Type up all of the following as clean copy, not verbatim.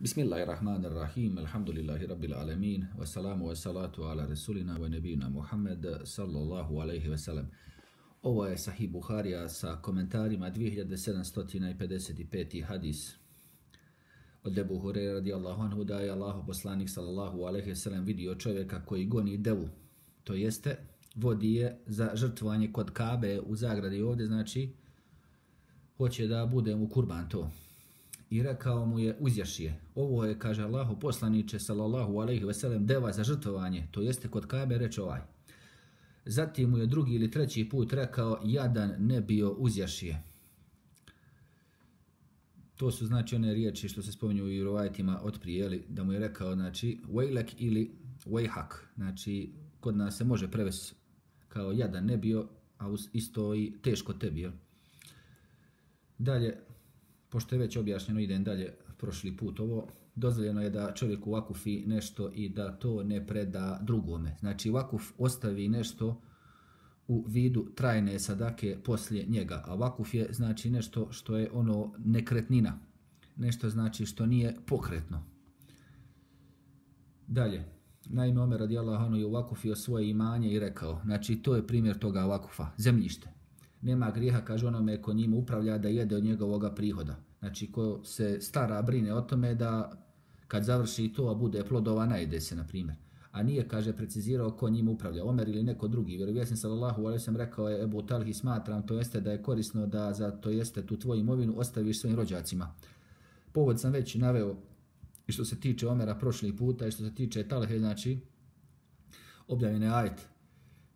Bismillahirrahmanirrahim, alhamdulillahi rabbil alamin, wassalamu wassalatu ala rasulina wa nabina Muhammed sallallahu alaihi wasallam. Ovo je Sahih Buharija sa komentarima 2755. hadis od Ebu Hurajre radijallahu anhu da je Allahov poslanik sallallahu alaihi wasallam vidio čovjeka koji goni devu, to jeste vodi je za žrtvovanje kod Kabe u zagradi ovdje, znači hoće da bude mu kurban to. I rekao mu je uzjašije. Ovo je, kaže Allahu poslaniče sallallahu alejhi ve sellem, deva za žrtvovanje, to jeste kod Kabe, reče ovaj. Zatim mu je drugi ili treći put rekao jadan ne bio uzjašije. To su znači one riječi što se spominju u rivajetima od prije, da mu je rekao znači vejlek ili vejhak. Znači kod nas se može prevesti kao jadan ne bio, a isto i teško tebi. Dalje, pošto je već objašnjeno, idem dalje prošli put ovo, dozvoljeno je da čovjek vakufi nešto i da to ne preda drugome. Znači vakuf ostavi nešto u vidu trajne sadake poslije njega, a vakuf je znači nešto što je ono nekretnina, nešto znači što nije pokretno. Dalje, naime Omer radijallahu anhu je vakufio svoje imanje i rekao, znači to je primjer toga vakufa, zemljište. Nema grijeha, kaže onome ko njim upravlja, da jede od njegovoga prihoda. Znači ko se stara, brine o tome da kad završi to, a bude plodova, najede se, na primjer. A nije, kaže, precizirao ko njim upravlja, Omer ili neko drugi. Vjerovjesnik sallallahu alejhi ve sellem rekao je Ebu Talhi, smatram, to jeste da je korisno da za to jeste tu tvoju imovinu ostaviš svojim rođacima. Povod sam već naveo i što se tiče Omera prošli puta i što se tiče Talhe, znači objavljene ajet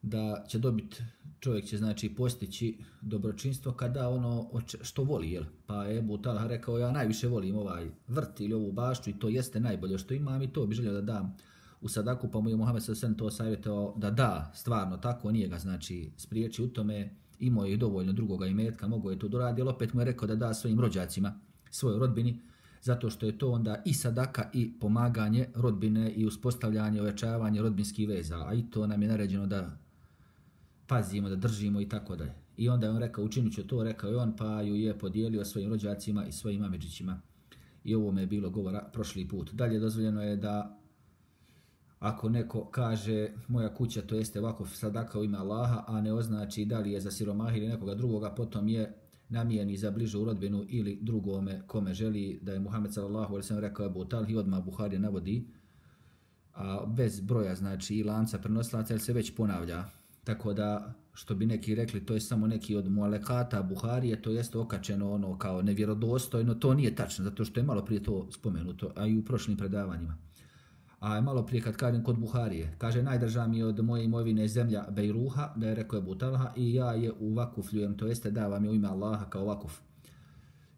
da će dobiti, čovjek će znači postići dobročinstvo kada ono što voli, jel? Pa je Ebu Talha rekao, ja najviše volim ovaj vrt ili ovu bašću i to jeste najbolje što imam i to bi želio da dam u sadaku, pa mu je Muhammed s.a.v. to savjetovao da da, stvarno tako, nije ga znači spriječi u tome, imao je dovoljno drugoga imetka, mogo je to doradi, ali opet mu je rekao da da svojim rođacima, svojoj rodbini, zato što je to onda i sadaka i pomaganje rodbine i uspostavljanje, ojačavanje rodbinskih veza, a i to nam je naređeno da pazimo, da držimo i tako dalje. I onda je on rekao, učinit ću to, rekao je on, pa ju je podijelio svojim rođacima i svojim amidžićima. I ovo me je bilo govora prošli put. Dalje dozvoljeno je da ako neko kaže moja kuća, to jeste vakuf sadaka u ime Allaha, a ne označi da li je za siromaha ili nekoga drugoga, potom je namijeni za bližu rodbinu ili drugome kome želi, da je Muhammed sallallahu alejhi ve sellem rekao Ebu Talhi, odmah Buharija navodi, a bez broja znači i lanca prenosilaca, jer se već ponavlja. Tako da, što bi neki rekli, to je samo neki od mualekata Buharije, to jeste okačeno ono kao nevjerodostojno, to nije tačno, zato što je malo prije to spomenuto, a i u prošlim predavanjima. A malo prije kad kažem kod Buharije, kaže najdrža mi od moje imovine zemlja Bejruha, da je rekao Ebu Talha, i ja je u vakufljujem, to jeste davam je u ime Allaha kao vakuf.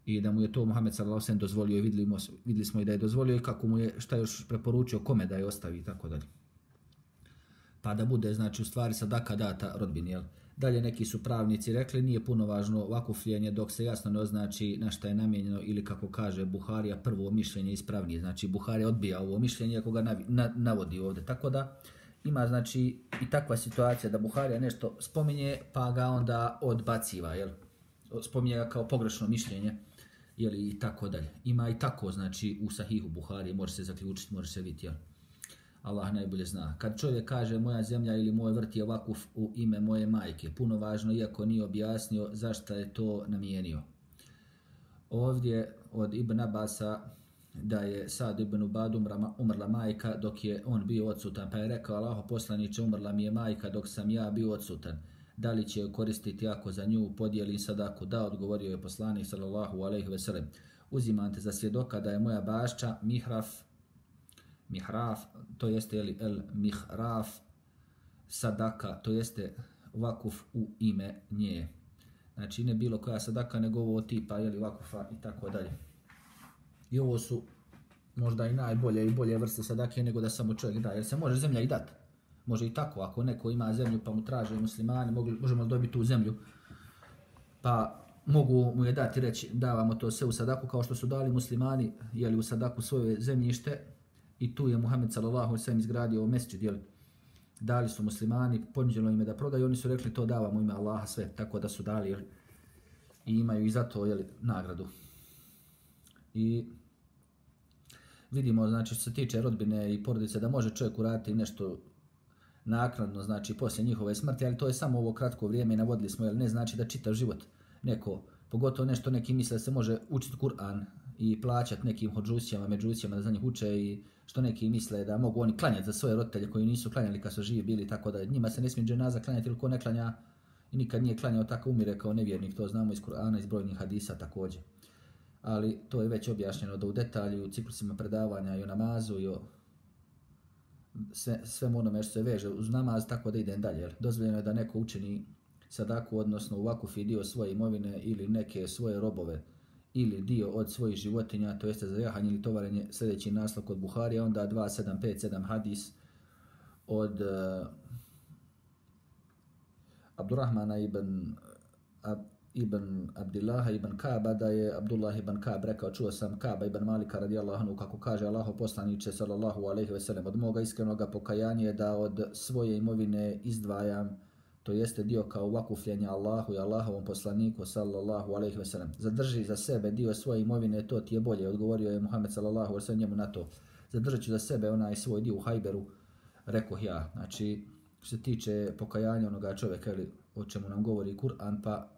I da mu je to Muhammed sallallahu alejhi ve sellem dozvolio i vidjeli smo i da je dozvolio i kako mu je, šta još preporučio, kome da je ostavi i tako dalje. Pa da bude, znači, u stvari sadaka data rodbini, jel? Dalje neki su pravnici rekli, nije puno važno vakufljenje dok se jasno ne označi na šta je namijenjeno ili kako kaže Buharija, prvo mišljenje ispravnije. Znači, Buharija odbija ovo mišljenje ako ga navodi ovdje. Tako da ima, znači, i takva situacija da Buharija nešto spominje pa ga onda odbaciva, jel? Spominje ga kao pogrešno mišljenje, jel? I tako dalje. Ima i tako, znači, u Sahihu Buharije, može se zaključiti, može se vidjeti, jel? Allah najbolje zna. Kad čovjek kaže moja zemlja ili moj vrt je vakuf u ime moje majke, puno važno, iako nije objasnio zašto je to namijenio. Ovdje od Ibn Abasa da je Sad ibn Ubad umrla majka dok je on bio odsutan, pa je rekao Allaho poslaniče, umrla mi je majka dok sam ja bio odsutan. Da li će koristiti ako za nju podijelim sadaku? Da, odgovorio je poslanik sallallahu alejhi ve sellem. Uzimam te za svjedoka da je moja bašća mihraf, to jeste el mihraf sadaka, to jeste vakuf u ime nje. Znači ne bilo koja sadaka, nego ovo tipa jeli vakufa i tako dalje. I ovo su možda i najbolje i bolje vrste sadake nego da samo čovjek da, jer se može zemlja i dati. Može i tako, ako neko ima zemlju pa mu traže muslimani, možemo dobiti tu zemlju, pa mogu mu je dati reći davamo to sve u sadaku kao što su dali muslimani jeli u sadaku svoje zemljište. I tu je Muhammed sallallahu alejhi ve sellem izgradio mesdžid, jel? Dali su muslimani, ponuđeno im je da prodaju, oni su rekli to davamo ime Allaha sve, tako da su dali, jel? I imaju i za to, jel, nagradu. I vidimo, znači što se tiče rodbine i porodice, da može čovjek uraditi nešto naknadno, znači poslije njihove smrti, ali to je samo ovo kratko vrijeme i navodili smo, jer ne znači da čitav život neko, pogotovo nešto neki misle da se može učiti Kur'an i plaćati nekim hodžusijama, međusijama da za njih uče i što neki misle da mogu oni klanjati za svoje roditelje koji nisu klanjali kad su živi bili, tako da njima se ne smije dženaza klanjati ili ko ne klanja i nikad nije klanjao tako umire kao nevjernik, to znamo iz Kur'ana, iz brojnih hadisa također. Ali to je već objašnjeno da u detalju, u ciklusima predavanja i o namazu i o svemu onome što se veže uz namaz, tako da idem dalje. Dozvoljeno je da neko učini sadaku, odnosno u vakufi dio svoje imovine ili neke svoje robove ili dio od svojih životinja, to jeste za jahanje ili tovarenje, sljedeći naslov kod Buharija, onda 2757 hadis od Abdurrahmana ibn Abdillaha ibn Kaaba, da je Abdullah ibn Kaab rekao, čuo sam Kaaba ibn Malika radijallahu anhu kako kaže Allahov poslaniče sallallahu alejhi ve sellem, od moga iskrenog pokajanja je da od svoje imovine izdvajam, to jeste dio kao vakufljenje Allahu i Allahovom poslaniku sallallahu alejhi ve sellem. Zadrži za sebe dio svoje imovine, to ti je bolje, odgovorio je Muhammed sallallahu alejhi ve sellem njemu na to. Zadržat ću za sebe onaj svoj dio u Hajberu, rekoh ja. Znači, što se tiče pokajanja onoga čovjeka, o čemu nam govori Kur'an, pa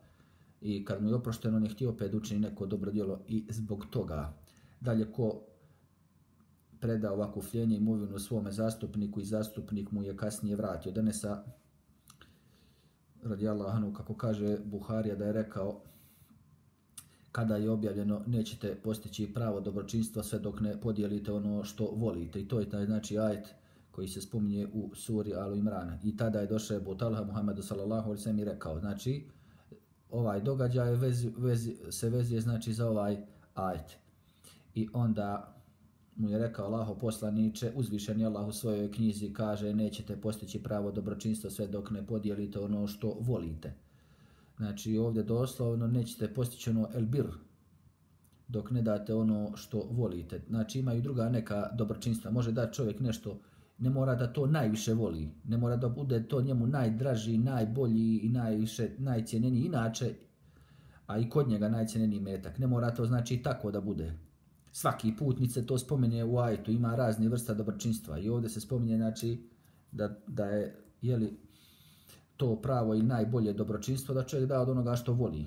i kad mu je oprošteno, on je htio opet učini neko dobro djelo i zbog toga. Dalje, ko preda ovako fljenje imovinu svome zastupniku i zastupnik mu je kasnije vratio. Denesa radijallahu anhu, kako kaže Buharija, da je rekao kada je objavljeno nećete postići pravo dobročinstva sve dok ne podijelite ono što volite. I to je taj znači ajet koji se spominje u suri Alu Imran. I tada je došao Ebu Talha Muhammedu sallallahu alejhi ve sellem i rekao, znači ovaj događaj se vezuje znači za ovaj ajet. I onda mu je rekao Allahov poslaniče, uzvišeni Allah u svojoj knjizi kaže nećete postići pravo dobročinstva sve dok ne podijelite ono što volite. Znači ovdje doslovno nećete postići ono elbir dok ne date ono što volite. Znači imaju druga neka dobročinstva. Može da čovjek nešto, ne mora da to najviše voli, ne mora da bude to njemu najdraži, najbolji i najcijenjeniji inače, a i kod njega najcijenjeniji metak. Ne mora to znači tako da bude. Svaki putnik se to spominje u ajetu, ima razni vrsta dobročinstva i ovdje se spominje znači da je to pravo i najbolje dobročinstvo da čovjek da od onoga što voli.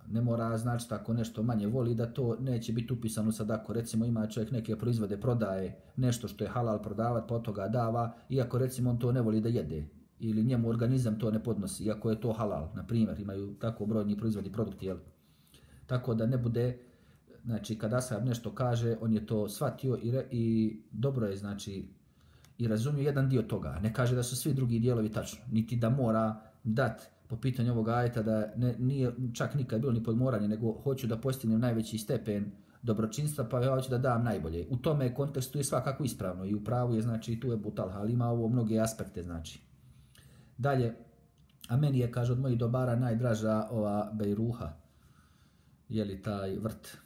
Ne mora znači tako nešto manje voli da to neće biti upisano sadaku. Recimo ima čovjek neke proizvode, prodaje nešto što je halal prodavat, pa od toga dava, iako recimo on to ne voli da jede ili njemu organizam to ne podnosi, iako je to halal. Na primjer, imaju tako brojni proizvodi, produkti, jel? Tako da ne bude, znači kada ashab nešto kaže, on je to shvatio i dobro je znači i razumio jedan dio toga. Ne kaže da su svi drugi dijelovi tačno, niti da mora dati po pitanju ovog ajeta da nije čak nikad bilo ni podmoranje, nego hoću da postignem najveći stepen dobročinstva, pa ja hoću da dam najbolje. U tome kontekstu je svakako ispravno i u pravu je, znači, tu je Ebu Talha, ali ima ovo mnoge aspekte, znači. Dalje, a meni je, kaže, od mojih dobara najdraža ova bejruha, jeli taj vrt.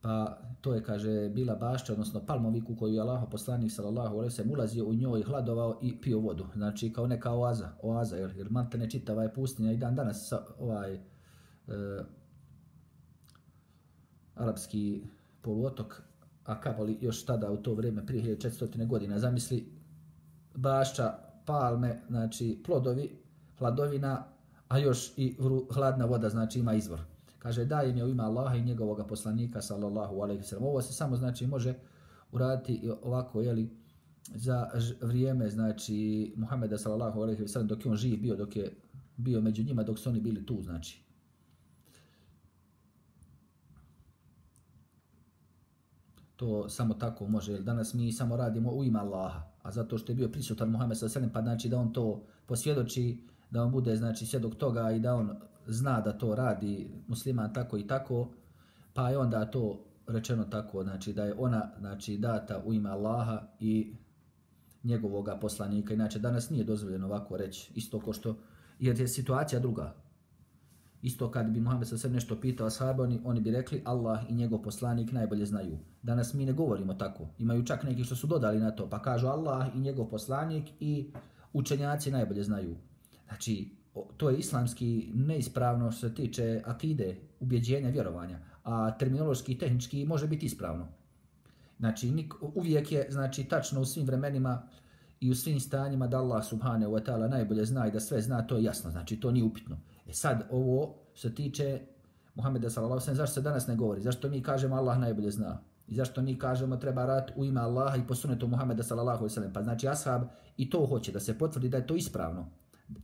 Pa to je, kaže, bila bašća, odnosno palmoviku koju je Allahov poslanik sallallahu alejhi ve sellem ulazio u njoj, hladovao i pio vodu. Znači kao neka oaza, jer maltene čitava je pustinja i dan danas arapski poluotok, a kamoli još tada u to vrijeme prije 1400 godina. Zamisli bašća, palme, znači plodovi, hladovina, a još i hladna voda, znači ima izvor. Kaže, dajem je u ime Allaha i njegovog poslanika sallallahu alejhi ve sellem. Ovo se samo znači može uraditi ovako, jeli, za vrijeme znači Muhameda sallallahu alejhi ve sellem, dok je on živ bio, dok je bio među njima, dok su oni bili tu, znači. To samo tako može, jer danas mi samo radimo u ime Allaha, a zato što je bio prisutan Muhammed sallallahu alejhi ve sellem, pa znači da on to posvjedoči, da on bude znači svjedok toga i da on zna da to radi musliman tako i tako, pa je onda to rečeno tako, znači da je ona znači data u ime Allaha i njegovog poslanika. Inače danas nije dozvoljeno ovako reći, isto ko što, jer je situacija druga. Isto kad bi Muhammed sa sve nešto pitao ashabe, oni bi rekli Allah i njegov poslanik najbolje znaju. Danas mi ne govorimo tako. Imaju čak neki što su dodali na to, pa kažu Allah i njegov poslanik i učenjaci najbolje znaju. Znači, to je islamski neispravno što se tiče akide, ubjeđenja, vjerovanja, a terminološki i tehnički može biti ispravno. Znači uvijek je znači tačno u svim vremenima i u svim stanjima da Allah subhanahu wa ta'ala najbolje zna i da sve zna, to je jasno, znači to nije upitno. Sad ovo se tiče Muhameda sallallahu alejhi ve sellem, zašto se danas ne govori? Zašto mi kažemo Allah najbolje zna? I zašto mi kažemo treba raditi u ime Allaha i po sunnetu Muhameda sallallahu alejhi ve sellem? Pa znači ashab i to hoće da se potvrdi da je to ispravno.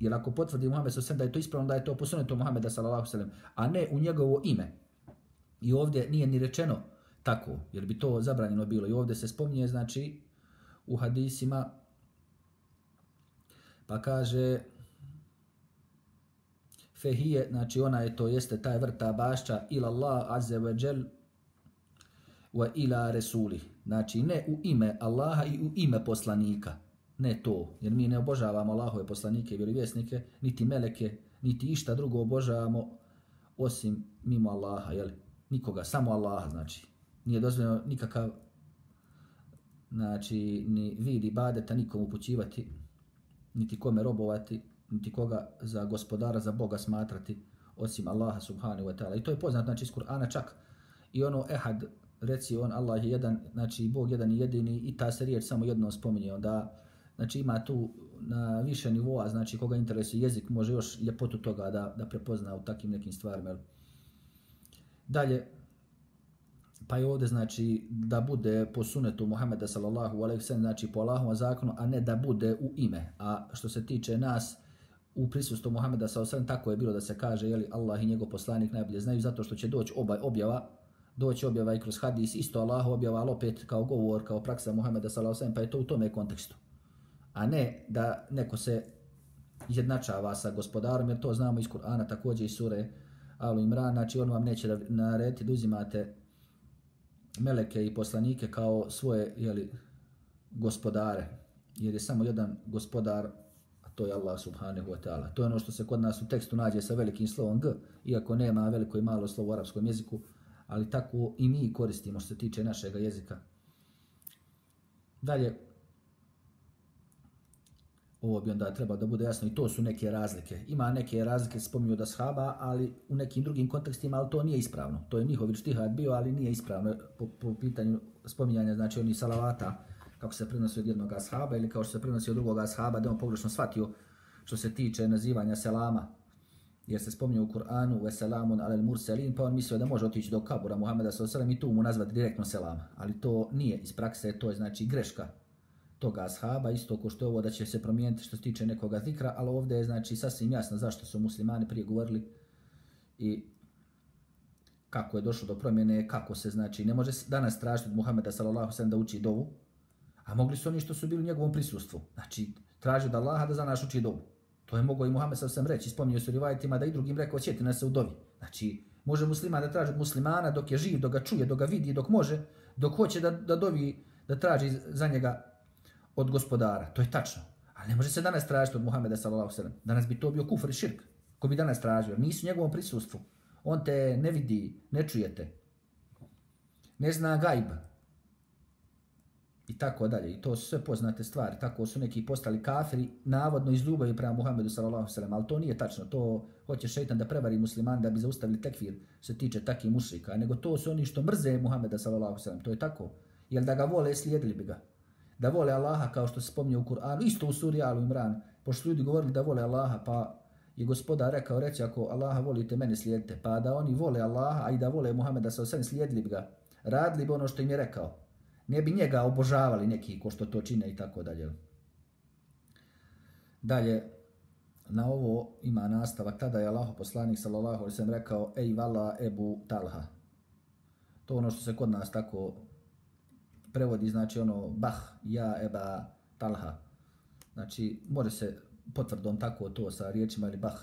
Jer ako potvrdi Muhammed sallallahu alejhi ve sellem da je to ispravno, da je to po sunnetu Muhameda sallallahu alejhi ve sellem, a ne u njegovo ime. I ovdje nije ni rečeno tako, jer bi to zabranjeno bilo. I ovdje se spominje znači u hadisima, pa kaže fehije, znači ona je to jeste taj vrta bašća ila Allah azze ve džel wa ila resuli. Znači ne u ime Allaha i u ime poslanika. Ne to, jer mi ne obožavamo Allahove poslanike i vjerovjesnike, niti meleke, niti išta drugo obožavamo osim mimo Allaha, jel? Nikoga, samo Allaha, znači. Nije dozvoljeno nikakav znači ni vid ibadeta nikom upućivati, niti kome robovati, niti koga za gospodara, za Boga smatrati osim Allaha subhanahu wa ta'ala. I to je poznat znači iz Kur'ana čak i ono ehad, reci on Allah je jedan, znači Bog jedan i jedini i ta se riječ samo jednom spominje. Onda znači ima tu na više nivoa, znači koga interesuje jezik može još ljepotu toga da prepozna u takim nekim stvarima. Dalje, pa je ovdje znači da bude po sunetu Muhameda sallallahu alejhi ve sellem, znači po Allahovom zakonu, a ne da bude u ime. A što se tiče nas u prisustvu Muhameda sallallahu alejhi ve sellem, tako je bilo da se kaže je li Allah i njegov poslanik najbolje znaju, zato što će doći objava i kroz hadis, isto Allah objava, ali opet kao govor, kao praksa Muhameda sallallahu alejhi ve sellem, pa je to u tome kontekstu. A ne da neko se izjednačava sa gospodarom, jer to znamo iz Kur'ana, također iz sure Al Imran, znači on vam neće narediti da uzimate meleke i poslanike kao svoje gospodare, jer je samo jedan gospodar, a to je Allah subhanahu wa ta'ala. To je ono što se kod nas u tekstu nađe sa velikim slovom G, iako nema veliko i malo slovo u arapskom jeziku, ali tako i mi koristimo što se tiče našeg jezika. Dalje, ovo bi onda trebalo da bude jasno i to su neke razlike. Ima neke razlike, spominju od ashaba, ali u nekim drugim kontekstima, ali to nije ispravno. To je njihov ijtihad bio, ali nije ispravno po pitanju spominjanja, znači onih salavata, kako se prenosi od jednog ashaba ili kao što se prenosi od drugog ashaba, da on pogrešno shvatio što se tiče nazivanja selama. Jer se spominje u Kur'anu ve selamun alel murselin, pa on mislio da može otići do kabura Muhameda sallallahu alejhi ve sellem i tu mu nazvati direktno selama. Ali to nije iz prakse, to je znači greška toga ashaba, isto ko što je ovo da će se promijeniti što se tiče nekoga zikra, ali ovdje je znači sasvim jasno zašto su muslimani prije govorili i kako je došlo do promjene, kako se znači, ne može danas tražiti od Muhameda sallallahu alejhi ve sellem da uči dovu, a mogli su oni što su bili u njegovom prisustvu, znači traži od Allaha da za nas uči dovu. To je mogao i Muhammed sallallahu alejhi ve sellem reći, spominju se u rivajetima da i drugim rekao sjeti nas se u dovi. Znači, može musliman da traži od muslimana dok je živ, dok ga čuje, dok ga vidi, dok može, dok hoće da dovi, da traži za njega od gospodara, to je tačno. Ali ne može se danas tražiti od Muhameda sallallahu alejhi ve sellem. Danas bi to bio kufr i širk. Ko bi danas tražio? Nisu u njegovom prisustvu. On te ne vidi, ne čujete. Ne zna gajb. I tako dalje. I to su sve poznate stvari. Tako su neki postali kafiri, navodno iz ljubavi prema Muhammedu sallallahu alejhi ve sellem, ali to nije tačno. To hoće šejtan da prevari musliman da bi zaustavili tekfir što se tiče takih mušrika. Nego to su oni što mrze Muhameda sallallahu alejhi ve sellem. To je tako. Jer da ga vole, slijedili bi ga. Da vole Allaha kao što se spominje u Kur'anu, isto u suri Al Imran, pošto ljudi govorili da vole Allaha, pa je gospodar rekao, reći ako Allaha volite, mene slijedite, pa da oni vole Allaha, a i da vole Muhameda sallallahu alejhi ve sellem, slijedili bi ga, radili bi ono što im je rekao. Ne bi njega obožavali neki ko što to čine i tako dalje. Dalje, na ovo ima nastavak, tada je Allahov poslanik sallallahu alejhi ve sellem rekao, ej vala Ebu Talha. To ono što se kod nas tako prevodi, znači ono bah, ja Eba Talha. Znači, može se potvrdom tako to sa riječima ili bah,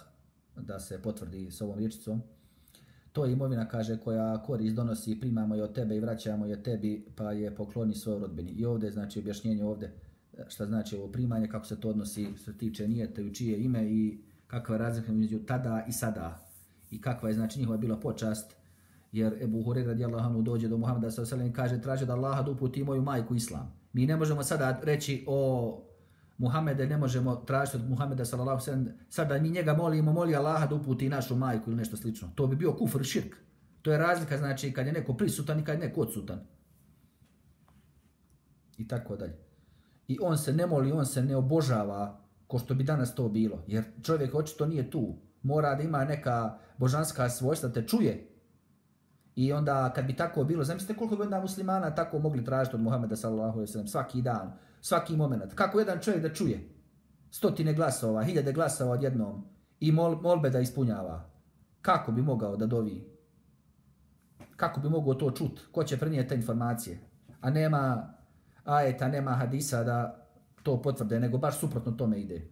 da se potvrdi s ovom riječicom. To je imovina, kaže, koja korist donosi, primamo je od tebe i vraćamo je tebi, pa je pokloni svojoj rodbini. I ovdje, znači, objašnjenje ovdje šta znači ovo primanje, kako se to odnosi, što se tiče nijete, u čije ime i kakva je razlika među tada i sada. I kakva je, znači, njihova bila počast. Jer Ebu Hurajra radijallahu anhu dođe do Muhameda sallallahu alejhi ve sellem i kaže traži da Allaha da uputi moju majku islam. Mi ne možemo sada reći o Muhammede, ne možemo tražiti od Muhameda sallallahu alejhi ve sellem sada mi njega moli Allaha da uputi našu majku ili nešto slično. To bi bio kufr, širk. To je razlika znači kad je neko prisutan i kad je neko odsutan. i tako dalje. I on se ne moli, on se ne obožava ko što bi danas to bilo, jer čovjek očito nije tu. Mora da ima neka božanska svojstva, te čuje. I onda kad bi tako bilo, zamislite koliko bi onda muslimana tako mogli tražiti od Muhameda sallallahu alejhi ve sellem svaki dan, svaki moment. Kako jedan čovjek da čuje 100 glasova, 1000 glasova odjednom i molbe da ispunjava. Kako bi mogao da dovi? Kako bi mogao to čut? Ko će prenijeti te informacije? A nema ajeta, nema hadisa da to potvrde, nego baš suprotno tome ide.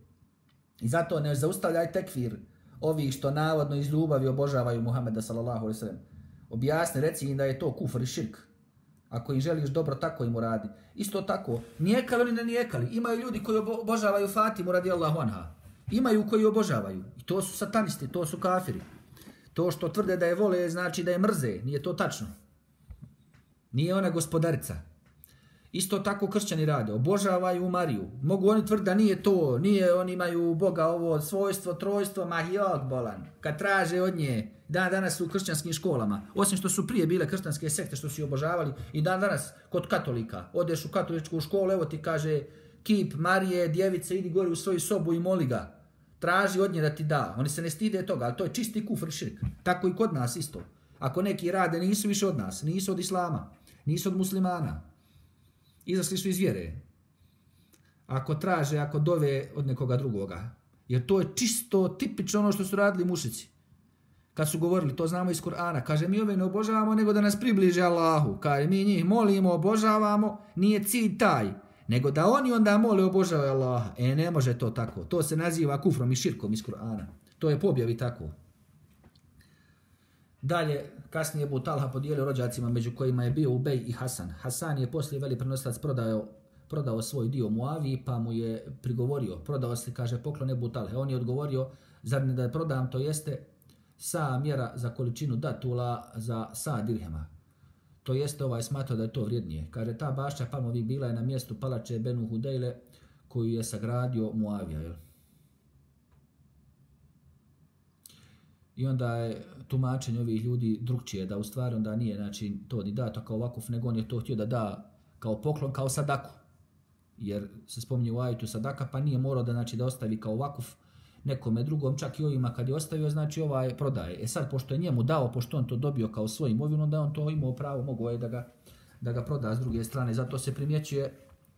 I zato ne zaustavljaj tekfir ovih što navodno iz ljubavi obožavaju Muhameda sallallahu alejhi ve sellem. Objasni, reci im da je to kufr i širk. Ako im želiš dobro, tako im uradi. Isto tako, nijekali oni ne nijekali. Imaju ljudi koji obožavaju Fatimu radijallahu anha. Imaju koji obožavaju. I to su satanisti, to su kafiri. To što tvrde da je vole znači da je mrze. Nije to tačno. Nije ona gospodarica. Isto tako kršćani rade. Obožavaju Mariju. Mogu oni tvrditi da nije to. Nije, oni imaju Boga ovo svojstvo, trojstvo, mahijog bolan. Kad traže od nje, danas su u kršćanskim školama. Osim što su prije bile kršćanske sekte što su obožavali. I danas kod katolika. Odeš u katoličku školu, evo ti kaže kip Marije, djevice, idi gore u svoju sobu i moli ga. Traži od nje da ti da. Oni se ne stide toga, ali to je čisti kufr širk. Tako i kod nas isto. Ako neki rade, nisu više od nas. Nisu od islama. Nisu od muslimana. Izašli su iz vjere. Ako traže, ako dove od nekoga drugoga. Jer to je čisto tipično ono što su radili mušici. Kad su govorili, to znamo iz Kur'ana. Kaže, mi ove ne obožavamo nego da nas približe Allahu. Kaže, mi njih molimo, obožavamo. Nije cilj taj. Nego da oni onda mole obožavaju Allaha. Ne može to tako. To se naziva kufrom i širkom iz Kur'ana. To je pobjavi tako. Dalje, kasnije Ebu Talha podijelio rođacima među kojima je bio Ubej i Hasan. Hasan je poslije veli prenosilac prodao svoj dio Muaviji pa mu je prigovorio. Prodao se, kaže, poklon Ebu Talhe. On je odgovorio, zar ne da prodam, to jeste sa mjera za količinu datula za sa dirhema. To jeste smatrao da je to vrijednije. Kaže, ta bašća palmovi bila je na mjestu palače Benu Hudejle koju je sagradio Muavija. Jel? I onda je tumačenje ovih ljudi drugčije, da u stvari onda nije znači, to ni dato kao vakuf, nego on je to htio da da kao poklon, kao sadaku. Jer se spominje u ajetu sadaka, pa nije morao da, znači, da ostavi kao vakuf nekome drugom, čak i ovima kad je ostavio, znači prodaje. Sad, pošto je njemu dao, pošto on to dobio kao svoj imovinu, onda on to imao pravo, mogao je da ga proda s druge strane. Zato se primjećuje,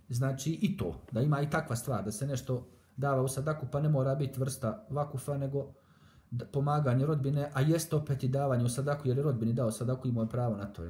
znači, i to, da ima i takva stvar, da se nešto dava u sadaku, pa ne mora biti vrsta vakufa, nego pomaganje rodbine, a jeste opet i davanje u sadaku, jer je rodbini dao sadaku i imao pravo na to.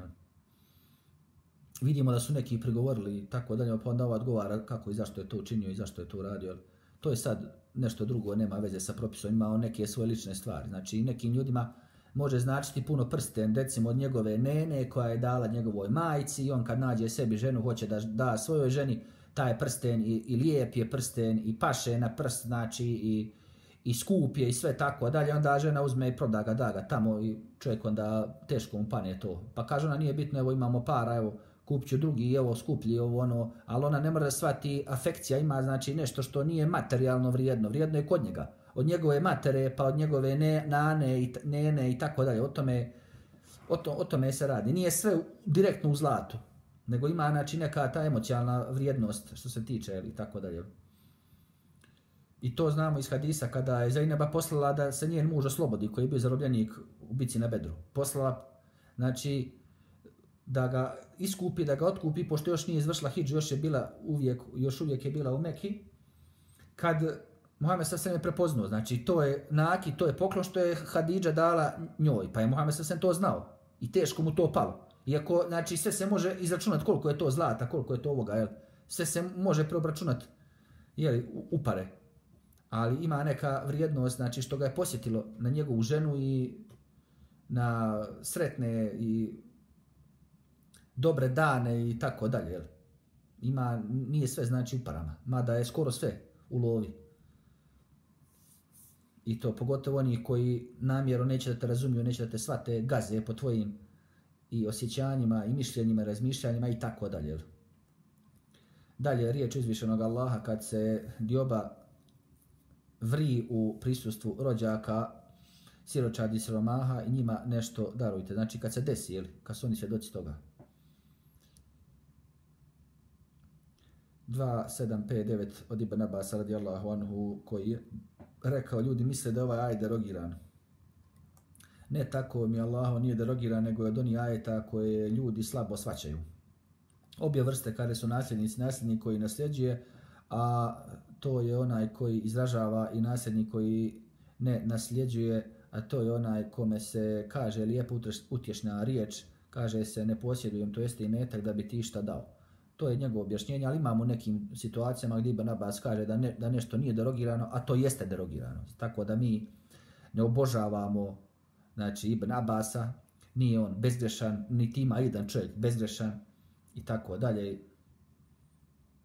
Vidimo da su neki prigovorili i tako dalje, pa onda odgovara kako i zašto je to učinio i zašto je to uradio. To je sad nešto drugo, nema veze sa propisom, ima on neke svoje lične stvari. Znači, nekim ljudima može značiti puno prsten, recimo od njegove nene koja je dala njegovoj majci i on kad nađe sebi ženu, hoće da da svojoj ženi taj prsten i lijep je prsten i paše na prst, znači i skup je i sve tako dalje, onda žena uzme i proda ga, da ga tamo i čovjek onda teško mu pane to. Pa kaže ona, nije bitno, evo imamo para, evo kupit ću drugi, evo skuplji, evo ono, ali ona ne mora da shvati, afekcija ima znači nešto što nije materijalno vrijedno, vrijedno je kod njega. Od njegove matere, pa od njegove nene i tako dalje, o tome se radi. Nije sve direktno u zlatu, nego ima znači neka ta emocionalna vrijednost što se tiče i tako dalje. I to znamo iz hadisa kada je Zainaba poslala da se njen muž oslobodi koji je bio zarobljenik u bici na Bedru. Poslala, znači, da ga iskupi, da ga otkupi, pošto još nije izvršila hidžu, još uvijek je bila u Meki, kad Muhammed s.a.v. je prepoznao, znači to je naki, to je poklon što je Hadidža dala njoj, pa je Muhammed s.a.v. to znao i teško mu to palo. Iako, znači, sve se može izračunati koliko je to zlata, koliko je to ovoga, jel? Sve se može preobračunati, jel, u pare. Ali ima neka vrijednost, znači, što ga je posjetilo na njegovu ženu i na sretne i dobre dane i tako dalje, jel? Nije sve znači u parama, mada je skoro sve u lovi. I to pogotovo oni koji namjerno neće da te razumiju, neće da te shvate, gaze po tvojim i osjećanjima i mišljenjima, razmišljanjima i tako dalje. Jel? Dalje, riječ uzvišenog Allaha kad se dioba vri u prisustvu rođaka, siročadi i siromaha i njima nešto darujte. Znači kad se desi, jel? Kad su oni svjedoci toga. 2759 od Ibn Abasa radijallahu anhu, koji je rekao, ljudi misle da ovaj ajet derogiran. Ne tako mi Allah nije derogiran, nego je od onih ajeta koje ljudi slabo shvaćaju. Obje vrste kada su nasljednik koji nasljeđuje, a to je onaj koji izražava, i nasljednik koji ne nasljeđuje, a to je onaj kome se kaže lijepo utješna riječ, kaže se ne posjedujem, to jeste imetak da bi ti šta dao. To je njegovo objašnjenje, ali imamo u nekim situacijama gdje Ibn Abbas kaže da nešto nije derogirano, a to jeste derogirano. Tako da mi ne obožavamo, znači, Ibn Abbasa, nije on bezgrešan, niti ima jedan čovjek bezgrešan i tako dalje.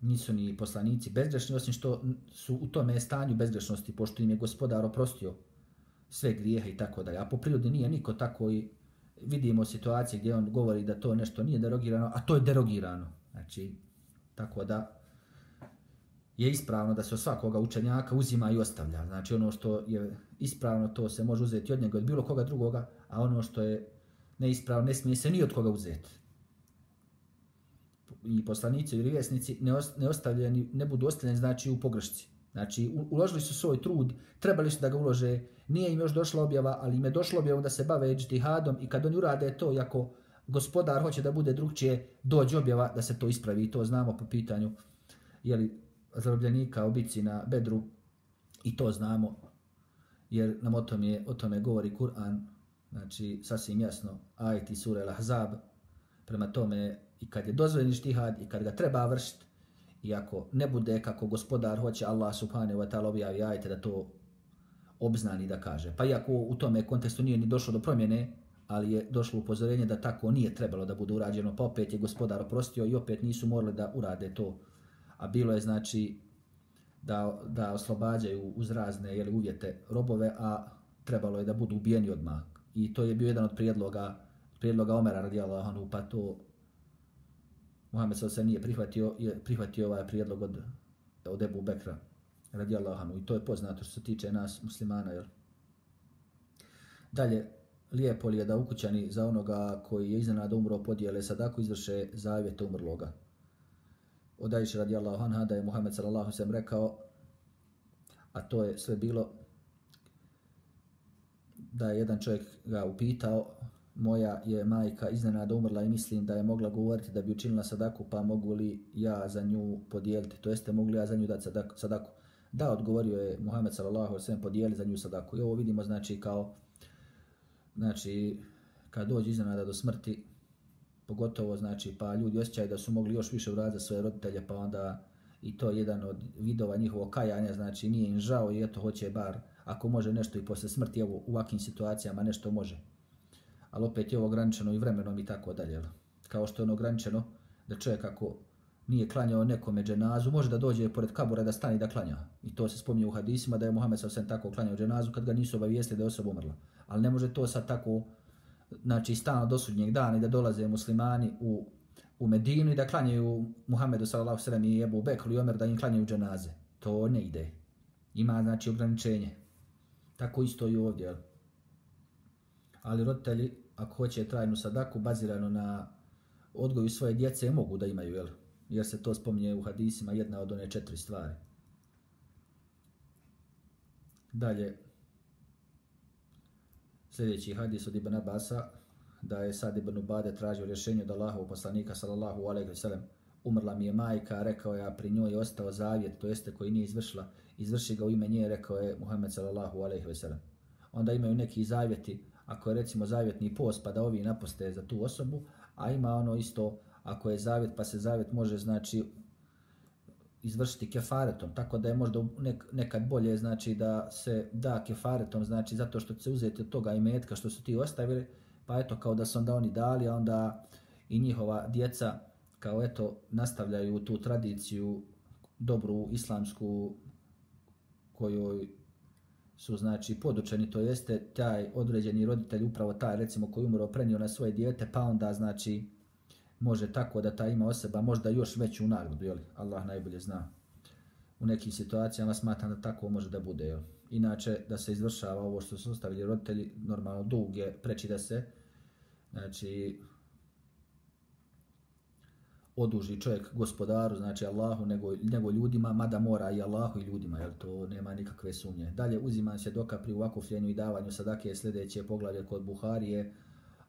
Nisu ni poslanici bezgrešni, osim što su u tome stanju bezgrešnosti, pošto im je Gospodar oprostio sve grijehe i tako dalje. A po prirodi nije niko tako, i vidimo situacije gdje on govori da to nešto nije derogirano, a to je derogirano. Znači, tako da je ispravno da se od svakoga učenjaka uzima i ostavlja. Znači, ono što je ispravno, to se može uzeti od njega, od bilo koga drugoga, a ono što je neispravno ne smije se ni od koga uzeti. I poslanici ili vjesnici ne budu ostavljeni, znači, u pogrešci. Znači, uložili su svoj trud, trebali su da ga ulože, nije im još došla objava, ali im je došla objava da se bave džihadom, i kad oni urade to, jako Gospodar hoće da bude drugčije, dođe objava da se to ispravi. I to znamo po pitanju zarobljenika u bici na Bedru, i to znamo jer nam o tome govori Kur'an, znači sasvim jasno, ajeti sure Al-Ahzab. Prema tome, i kad je dozvoljen džihad i kad ga treba vršiti, i ako ne bude kako Gospodar hoće, Allah subhanahu wa ta'ala objavi ajete da to obznani, da kaže. Pa iako u tome kontekstu nije ni došlo do promjene, ali je došlo upozorenje da tako nije trebalo da bude urađeno, pa opet je Gospodar oprostio i opet nisu morali da urade to. A bilo je, znači, da oslobađaju uz razne uvjete robove, a trebalo je da budu ubijeni odmah. I to je bio jedan od prijedloga Omera radijallahu anhu, pa to Muhammed s.a.v. nije prihvatio ovaj prijedlog od Ebu Bekra radijallahu anhu. I to je poznato što se tiče nas muslimana. Jel? Dalje, lijepo li je da ukućani za onoga koji je iznenada umro podijele sadaku, izvrše zavjet umrloga. Od Ajše radijallahu anha da je Muhammed sallallahu alejhi ve sellem rekao, a to je sve bilo da je jedan čovjek ga upitao, moja je majka iznenada umrla i mislim da je mogla govoriti da bi učinila sadaku, pa mogu li ja za nju podijeliti, to jeste mogu li ja za nju dati sadaku. Da, odgovorio je Muhammed sallallahu alejhi ve sellem, podijeli za nju sadaku. I ovo vidimo, znači, kao, znači, kad dođe iznenada do smrti, pogotovo, znači, pa ljudi osjećaju da su mogli još više uraditi za svoje roditelje, pa onda i to je jedan od vidova njihovog kajanja, znači nije im žao i eto hoće bar, ako može nešto i posle smrti, evo u ovakvim situacijama nešto može. Ali opet je ovo ograničeno i vremenom i tako dalje. Kao što je ono ograničeno da čovjek ako nije klanjao nekome dženazu, može da dođe pored kabura da stane da klanja. I to se spominje u hadisima da je Muhammed s.a.v. tako klanjao dženazu kad ga nisu obavijestili da je osoba umrla. Ali ne može to sad tako, znači, stalno do sudnjeg dana i da dolaze muslimani u Medinu i da klanjaju Muhammedu sallallahu alejhi ve sellem i Ebu Bekru i Omer da im klanjaju dženaze. To ne ide. Ima, znači, ograničenje. Tako isto i ovdje. Ali roditelji, ako hoće trajnu sadaku bazirano na odgoju svoje djece, mogu da imaju, jel? Jer se to spominje u hadisima, jedna od one 4 stvari. Dalje, sljedeći hadis od Ibn Abasa, da je Sad ibn Ubade tražio rješenje od Allahovog poslanika sallallahu alejhi ve sellem. Umrla mi je majka, rekao je, a pri njoj je ostao zavjet, to jeste koji nije izvršila. Izvrši ga u ime nje, rekao je Muhammed sallallahu alejhi ve sellem. Onda imaju neki zavjeti, ako je recimo zavjetni post pa da ovi naposte za tu osobu, a ima ono isto, ako je zavjet pa se zavjet može, znači, izvršiti kefaretom, tako da je možda nekad bolje, znači, da se da kefaretom, znači zato što će se uzeti od toga imetka što su ti ostavili, pa eto kao da su onda oni dali, a onda i njihova djeca kao eto nastavljaju tu tradiciju dobru islamsku kojoj su, znači, podučeni, to jeste taj određeni roditelj, upravo taj recimo koji umro prenio na svoje dijete, pa onda, znači, može tako da ta ima osoba možda još veću nagradu, jel? Allah najbolje zna. U nekim situacijama smatram da tako može da bude, jel? Inače, da se izvršava ovo što su ostavili roditelji, normalno dug je preči da se, znači, oduži čovjek gospodaru, znači Allahu, nego ljudima, mada mora i Allahu i ljudima, jer to nema nikakve sumnje. Dalje uzima se doka pri uvakufljenju i davanju sadake sljedeće poglavlje kod Buharije,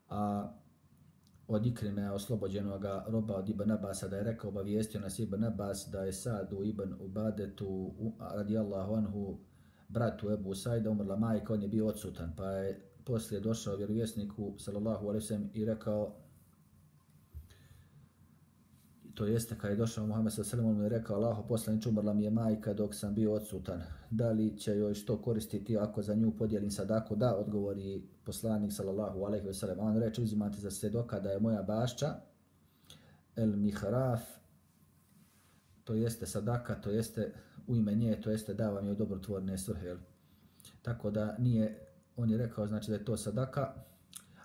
a od Ikrime oslobođenog roba od Ibn Abasa da je rekao, obavijestio nas Ibn Abbas da je Sadu Ibn Ubadetu radijallahu anhu bratu Ebu Sajda umrla majka, on je bio odsutan, pa je poslije došao vjerovjesniku sallallahu alejhi ve sellem i rekao, to jeste kad je došao Muhammed sallallahu alejhi ve sellem, on je rekao, Allahu poslaniče, umrla mi je majka dok sam bio odsutan, da li će joj što koristiti ako za nju podijelim sadaku? Da, odgovori poslanik sallallahu alejhi ve sellem. On reče, uzimate za svjedoka da je moja bašča el mihraf, to jeste sadaka, to jeste u ime nje, to jeste davam joj dobrotvorne svrhe. Tako da nije, on je rekao, znači da je to sadaka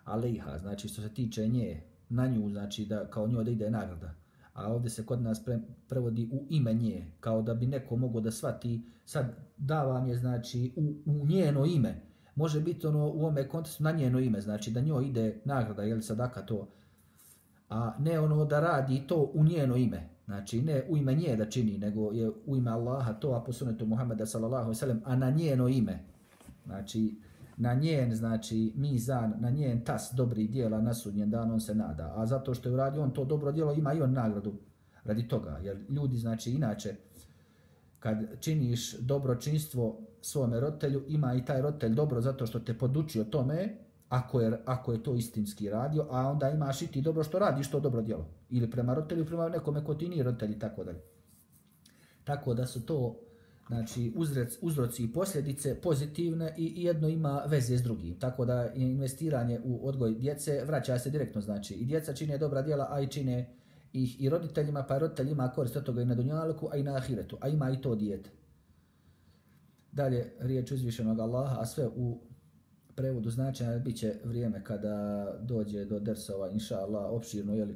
alejha, znači što se tiče nje, na nju, znači da kao njoj da ide nagrada. A ovdje se kod nas prevodi u ime nje, kao da bi neko mogao da shvati, sad davam je znači u njeno ime. Može biti ono u ovome kontekstu na njeno ime, znači da njoj ide nagrada, jel sadaka to, a ne ono da radi to u njeno ime. Znači ne u ime nje da čini, nego je u ime Allaha to, a po sunnetu Muhammeda sallallahu alejhi ve sellem, a na njeno ime. Znači na njen, znači mizan, na njen tas dobrih djela na sudnjem danu on se nada. A zato što je uradio on to dobro djelo, ima i on nagradu radi toga. Jer ljudi, znači inače, kad činiš dobročinstvo svome roditelju, ima i taj roditelj dobro zato što te podučio tome, ako je to istinski radio, a onda imaš i ti dobro što radiš to dobro djelo. Ili prema roditelju, prema nekome ko ti nije roditelj i tako dalje. Tako da su to, znači, uzroci i posljedice pozitivne i jedno ima veze s drugim. Tako da investiranje u odgoj djece vraća se direktno, znači i djeca čine dobra djela, a i čine ih i roditeljima, pa roditelj ima korist od toga i na dunjaluku, a i na ahiretu, a ima i to dijete. Dalje, riječ uzvišenog Allaha, a sve u prevodu značenja bit će vrijeme kada dođe do dersova, inša Allah, opširno, jeli,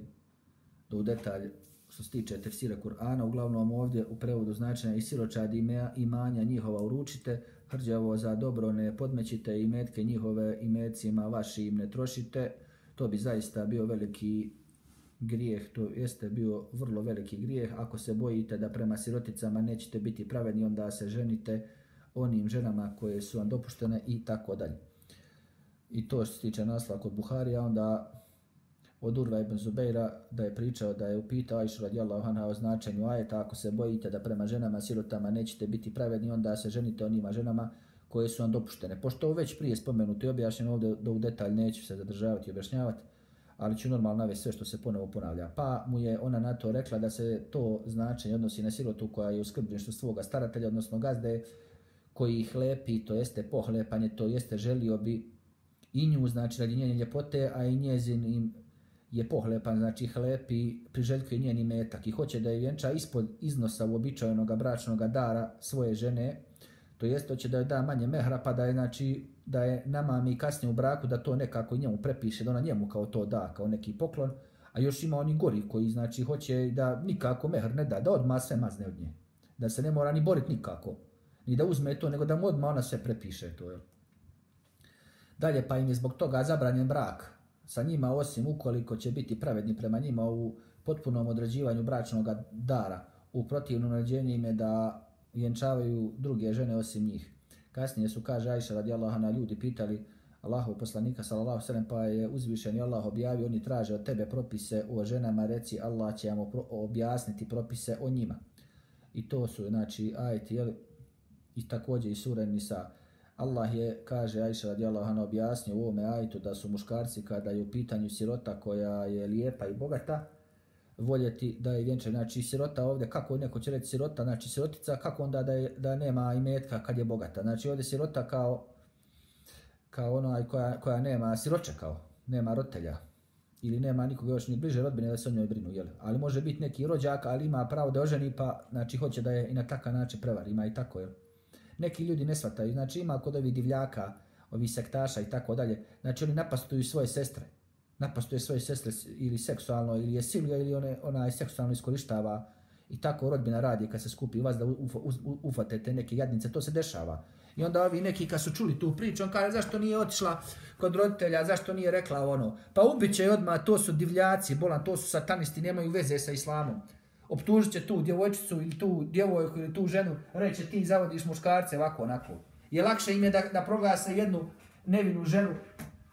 do u detalj što se tiče tefsira Kur'ana, uglavnom ovdje u prevodu značenja i siročadi imanja njihova uručite, hrđavo za dobro ne podmećite i metke njihove i metcima vašim ne trošite, to bi zaista bio veliki grijeh, to jeste bio vrlo veliki grijeh. Ako se bojite da prema siroticama nećete biti pravedni, onda se ženite onim ženama koje su vam dopuštene i tako dalje. I to što se tiče naslova kod Buharija, onda od Urva ibn Zubeira da je pričao da je upitao Ajšu radijallahu anha o značenju ajeta, ako se bojite da prema ženama sirotama nećete biti pravedni, onda se ženite onima ženama koje su vam dopuštene. Pošto već prije spomenuto i objašnjeno ovdje, da u detalj neću se zadržavati i objašnjavati, ali ću normalno navesti sve što se ponovo ponavlja. Pa mu je ona na to rekla da se to značenje odnosi na sirotu koja je u skrbništvu svoga staratelja, odnosno gazde, koji ih lepi, to jeste pohlepanje, to jeste želio bi i nju, znači radi njene ljepote, a i njezin im je pohlepan, znači hlepi, priželjkuje njeni metak i hoće da je vjenča ispod iznosa uobičajenog bračnog dara svoje žene, to jest hoće da joj da manje mehra, pa da je, znači, da je namami kasnije u braku, da to nekako njemu prepiše, da ona njemu kao to da, kao neki poklon, a još ima oni gori koji, znači, hoće da nikako mehr ne da odmah sve mazne od nje, da se ne mora ni boriti nikako, ni da uzme to, nego da mu odmah ona sve prepiše to, jel? Dalje, pa im je zbog toga zabranjen brak sa njima, osim ukoliko će biti pravedni prema njima u potpunom određivanju bračnog dara. U protivnom naređenju im je da vjenčavaju druge žene osim njih. Kasnije su, kaže Ajša radijallahu anha, ljudi pitali Allahov poslanika sallallahu alejhi ve sellem, pa je uzvišeni Allah objavio, oni traže od tebe propise o ženama, reci Allah će vam objasniti propise o njima. I to su, znači, ajeti, jel, i također i sura Nisa. Allah je, kaže Ajša radijallahu anha, objasnio u ovome ajetu da su muškarci, kada je u pitanju sirota koja je lijepa i bogata, voljeti da je vjenča. Znači sirota ovdje, kako neko će reći sirota, znači sirotica, kako onda da nema imetka kad je bogata. Znači ovdje sirota kao onaj koja nema siroče, kao nema roditelja ili nema nikoga još ni bliže rodbine da se o njoj brinu, jel? Ali može biti neki rođak, ali ima pravo da oženi, pa znači hoće da je i na takav način prevari, ima i tako, jel? Neki ljudi ne shvataju, znači ima kod ovih divljaka, ovih sektaša i tako dalje, znači oni napastuju svoje sestre, napastuje svoje sestre ili seksualno, ili je siluje, ili ona je seksualno iskorištava i tako rodbina radi kad se skupi vas da ufatete neke jadnice, to se dešava. I onda ovi neki kad su čuli tu priču, on kaže zašto nije otišla kod roditelja, zašto nije rekla ono. Pa ubit će odmah, to su divljaci, bolan, to su satanisti, nemaju veze sa islamom. Optužit će tu djevojčicu ili tu djevojku ili tu ženu, reće ti zavodiš muškarce ovako onako. Je lakše im je da proglase jednu nevinu ženu,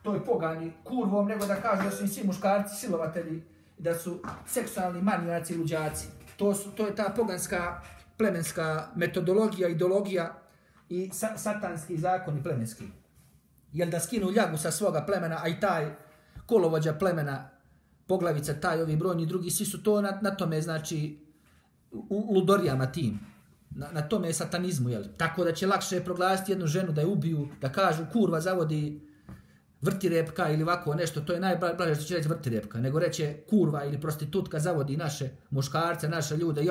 toj pogani kurvom, nego da kažu da su im svi muškarci silovatelji, da su seksualni manijaci i luđaci. To je ta poganska plemenska metodologija, ideologija i satanski zakoni plemenski. Jel da skinu ljagu sa svoga plemena, a i taj kolovođa plemena, poglavica, taj, ovi brojni drugi, svi su to na tome, znači, u ludorijama tim. Na tome satanizmu, jel? Tako da će lakše proglasiti jednu ženu da je ubiju, da kažu kurva zavodi vrtirepka ili ovako nešto, to je najblaže što će reći vrtirepka, nego reće kurva ili prostitutka zavodi naše muškarce, naše ljude,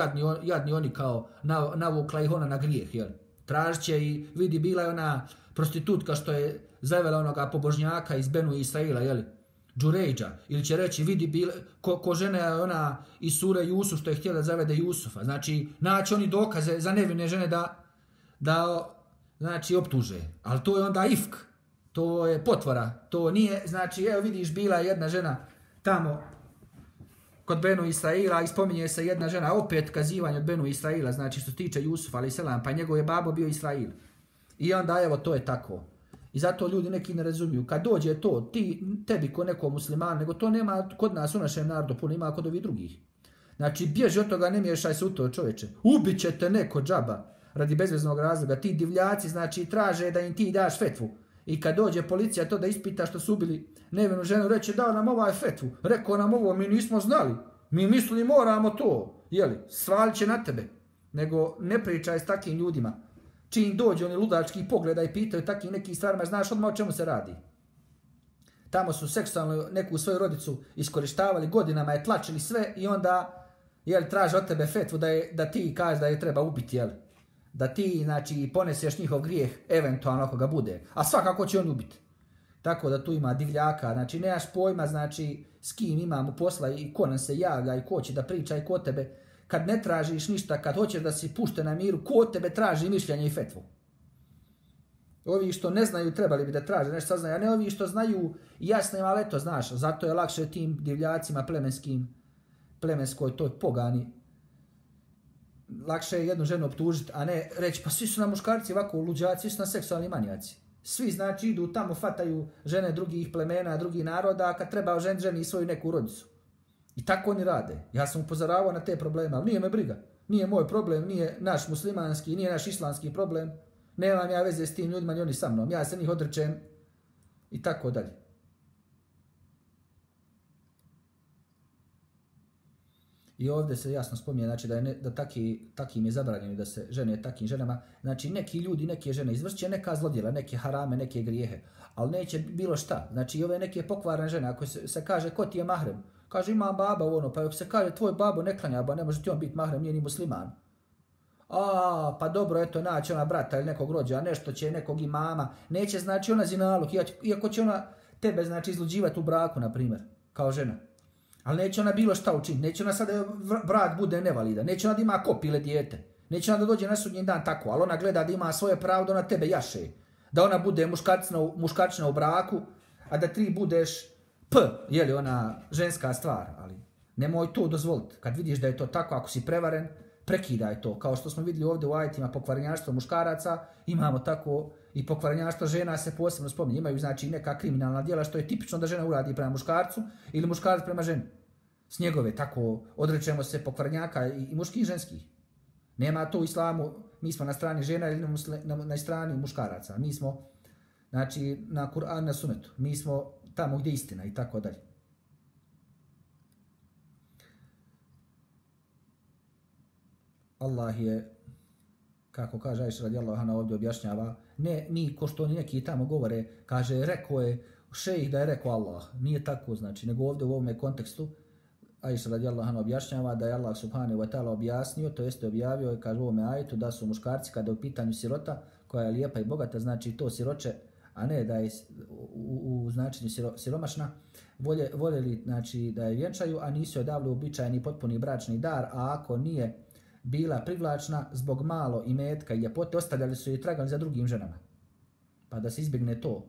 jadni oni kao navukla ih ona na grijeh, jel? Tražit će i vidi bila je ona prostitutka što je zavela onoga pobožnjaka iz Benu Israila, jel? Džurejđa, ili će reći vidi ko žena je ona iz sure Jusuf što je htjela da zavede Jusufa. Znači, naći oni dokaze za nevine žene da znači, optuže. Ali to je onda ifk, to je potvora, to nije, znači, evo vidiš, bila je jedna žena tamo kod Benu Israila i spominje se jedna žena, opet kazivanje od Benu Israila, znači što se tiče Jusufa, ali selam, pa njegov je babo bio Israil. I onda, evo, to je tako. I zato ljudi neki ne razumiju. Kad dođe to, tebi ko neko musliman, nego to nema kod nas u našem narodu, puno ima kod ovih drugih. Znači, bježi od toga, ne miješaj se u to, čoveče. Ubit će te neko džaba radi bezveznog razloga. Ti divljaci, znači, traže da im ti daš fetvu. I kad dođe policija to da ispita što su ubili nevinu ženu, reće dao nam ovaj fetvu. Rekao nam ovo, mi nismo znali. Mi mislili moramo to. Jeli, svalit će na tebe. Nego ne pričaj s takim ljudima. Čim dođe oni ludački pogleda i pitaju takvim nekim stvarima, znaš odmah o čemu se radi. Tamo su seksualno neku svoju rodicu iskorištavali, godinama je tlačili sve i onda traže od tebe fetvu da ti kažeš da je treba ubiti, jel? Da ti, znači, poneseš njihov grijeh, eventualno ako ga bude. A svakako će on ubiti. Tako da tu ima divljaka, znači nemaš pojma, znači, s kim imamo posla i ko nam se javlja i ko će da priča i ko tebe. Kad ne tražiš ništa, kad hoćeš da si pušten na miru, ko tebe traži mišljenje i fetvu? Ovi što ne znaju trebali bi da traže nešto saznaju, a ne ovi što znaju jasno im, ali eto, znaš, zato je lakše tim divljacima plemenskoj toj pogani. Lakše je jednu ženu optužiti, a ne reći, pa svi su na muškarci ovako luđaci, svi su na seksualni manijaci. Svi, znači, idu tamo, fataju žene drugih plemena, drugih naroda, a kad treba ženi svoju neku rodicu. I tako oni rade. Ja sam upozoravao na te probleme, ali nije me briga. Nije moj problem, nije naš muslimanski, nije naš islamski problem. Nemam ja veze s tim ljudima, ni oni sa mnom. Ja se njih odrečem i tako dalje. I ovdje se jasno spominje, znači, da takim je zabranjeno da se žene takim ženama. Znači, neki ljudi, neke žene izvršće neka zlodjela, neke harame, neke grijehe, ali neće bilo šta. Znači, i ove neke pokvarne žene, ako se kaže ko ti je mahrem, kaže imam baba ono, pa ako se kaže tvoj babo ne klanja, ba ne može ti on biti mahrem, nije ni musliman. Pa dobro, eto, naći ona brata ili nekog rođa, nešto će nekog imama, neće znači ona zinaluk, iako će ona tebe znači izluđivati u braku, na primjer, kao žena. Ali neće ona bilo šta učiniti, neće ona sada brat bude nevalida, neće ona da ima kopile dijete, neće ona da dođe na sudnji dan tako, ali ona gleda da ima svoje pravo da ona tebe jaše, da ona bude muškarčina u braku, a da ti budeš jeli ona ženska stvar, ali nemoj to dozvoliti. Kad vidiš da je to tako, ako si prevaren, prekidaj to. Kao što smo vidjeli ovdje u ajetima pokvarenjaštvo muškaraca, imamo tako i pokvarenjaštvo žena se posebno spominje. Imaju znači neka kriminalna djela što je tipično da žena uradi prema muškarcu ili muškarac prema ženi. S njegove tako odrećemo se pokvarenjaka i muških i ženskih. Nema to u islamu, mi smo na strani žena ili na strani muškaraca. Mi smo znači na Kur'an, na sunetu. Mi smo tamo gdje je istina i tako dalje. Allah je, kako kaže Ajša radijallahu anha ovdje objašnjava, ne mi ko što neki tamo govore, kaže rekao je šejh da je rekao Allah. Nije tako znači, nego ovdje u ovome kontekstu Ajša radijallahu anha objašnjava da je Allah subhanahu wa ta'ala objasnio, to jeste objavio, kaže u ovome ajetu da su muškarci kada je u pitanju sirota koja je lijepa i bogata, znači to siroče, a ne da je u značenju siromašna, voljeli znači, da je vjenčaju, a nisu joj davali uobičajeni potpuni bračni dar, a ako nije bila privlačna zbog malo imetka i ljepote, ostavljali su je tragali za drugim ženama. Pa da se izbjegne to.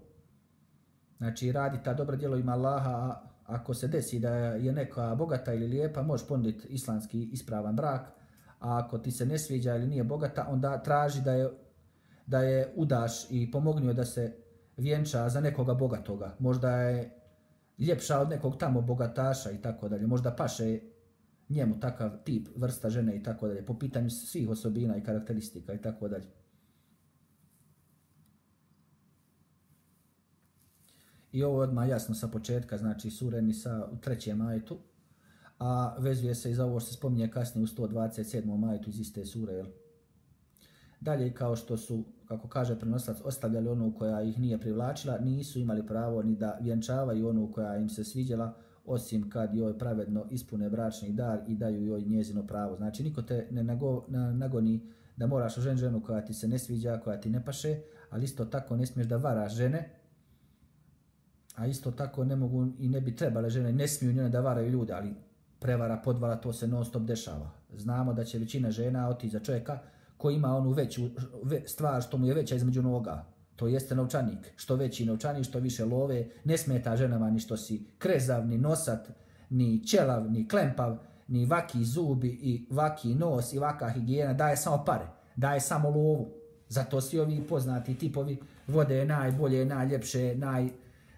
Znači, radi ta dobra djelo ima Allaha, a ako se desi da je neka bogata ili lijepa, možeš ponuditi islamski ispravan brak, a ako ti se ne sviđa ili nije bogata, onda traži da je udaš i pomogni joj da se vjenča za nekoga bogatoga. Možda je ljepša od nekog tamo bogataša i tako dalje. Možda paše njemu takav tip, vrsta žene i tako dalje. Po pitanju svih osobina i karakteristika i tako dalje. I ovo je odmah jasno sa početka, znači sure Nisa u 3. ajetu, a vezuje se i za ovo što se spominje kasnije u 127. ajetu iz iste sure. Jel? Dalje, kao što su, kako kaže prenosilac, ostavljali onu koja ih nije privlačila, nisu imali pravo ni da vjenčavaju onu koja im se sviđala, osim kad joj pravedno ispune bračni dar i daju joj njezino pravo. Znači, niko te ne nagoni da moraš oženiti ženu koja ti se ne sviđa, koja ti ne paše, ali isto tako ne smiješ da varaš žene, a isto tako ne mogu i ne bi trebale žene, ne smiju njene da varaju ljude, ali prevara, podvala, to se non stop dešava. Znamo da će većina žena otići za čovjeka koji ima onu veću stvar što mu je veća između noga. To jeste novčanik. Što veći novčanik, što više love, ne smeta ženama ni što si krezav, ni nosat, ni ćelav, ni klempav, ni vaki zubi i vaki nos i vaka higijena, daje samo pare, daje samo lovu. Zato svi ovi poznati tipovi vode najbolje, najljepše,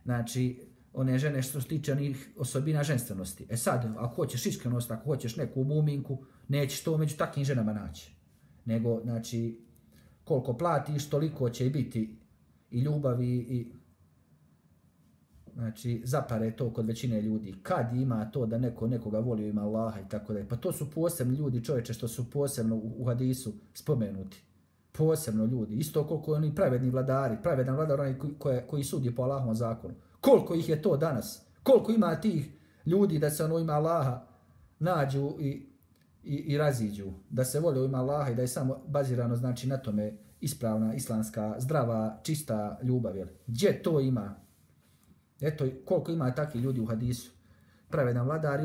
znači, one žene što se tiče onih osobina ženstvenosti. E sad, ako hoćeš iskrenost, ako hoćeš neku muminku, nećeš to među takvim ženama naći. Nego, znači, koliko platiš, toliko će biti i ljubavi i, znači, zapare to kod većine ljudi. Kad ima to da neko nekoga voli, ima Allaha i tako da. Pa to su posebni ljudi, čovječe, što su posebno u hadisu spomenuti. Posebno ljudi. Isto koliko oni pravedni vladari, pravedan vladar onaj koji sudi po Allahovom zakonu. Koliko ih je to danas? Koliko ima tih ljudi da se ono ima Allaha nađu i raziđu? Da se vole u ima Allaha i da je samo bazirano znači na tome ispravna, islamska, zdrava, čista ljubav. Jel? Gdje to ima? Eto koliko ima takvih ljudi u hadisu. Pravedan vladar i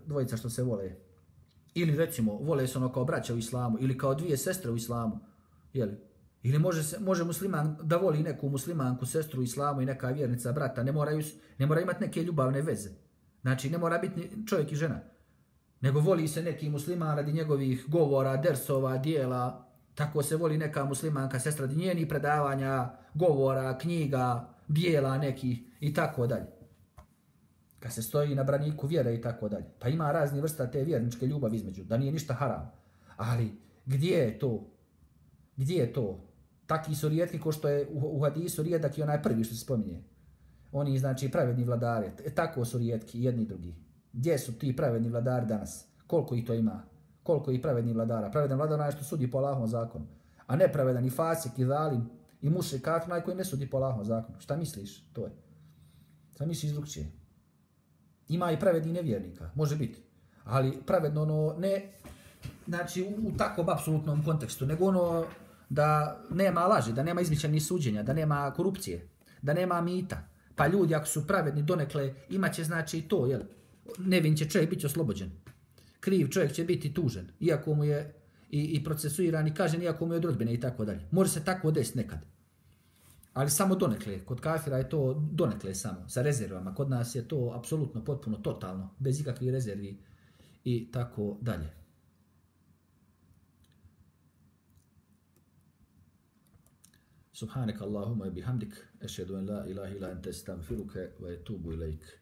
dvojica što se vole. Ili recimo, vole se ono kao braća u islamu, ili kao dvije sestre u islamu. Jel? Ili može musliman da voli neku muslimanku, sestru u islamu i neka vjernica brata, ne mora imati neke ljubavne veze. Znači, ne mora biti čovjek i žena. Nego voli se neki musliman radi njegovih govora, dersova, dijela. Tako se voli neka muslimanka, sestra radi njenih predavanja, govora, knjiga, dijela nekih i tako dalje. Kad se stoji na braniku vjere i tako dalje. Pa ima razni vrsta te vjerničke ljubavi između, da nije ništa haram. Ali gdje je to? Gdje je to? Taki su rijetki ko što je u hadisu rijedak i onaj prvi što se spominje. Oni znači pravedni vladari. Tako su rijetki jedni i drugi. Gdje su ti pravedni vladari danas? Koliko ih to ima? Koliko ih pravedni vladara? Pravedan vladar onaj što sudi po Allahovom zakonu. A nepravedan i fasik i zalim i mušrik kafir onaj koji ne sudi po Allahovom zakonu. Šta misliš? To je. Šta misliš drugčije? Ima i pravedni nevjernika. Može biti. Ali pravedno ono ne znači u takvom apsolutnom kontekstu, nego ono da nema laži, da nema izmišljenih suđenja, da nema korupcije, da nema mita. Pa ljudi ako su pravedni donekle imaće znači to, jel? Nevin će čovjek biti oslobođen. Kriv čovjek će biti tužen, iako mu je i procesuiran i kažen, iako mu je od rodbine i tako dalje. Može se tako desiti nekad. Ali samo donekle. Kod kafira je to donekle samo, sa rezervama. Kod nas je to apsolutno, potpuno, totalno, bez ikakvih rezervi i tako dalje. Subhanak Allahumma bihamdik, ešhedu en la ilaha illa ente, estagfiruke ve etubu ilaik.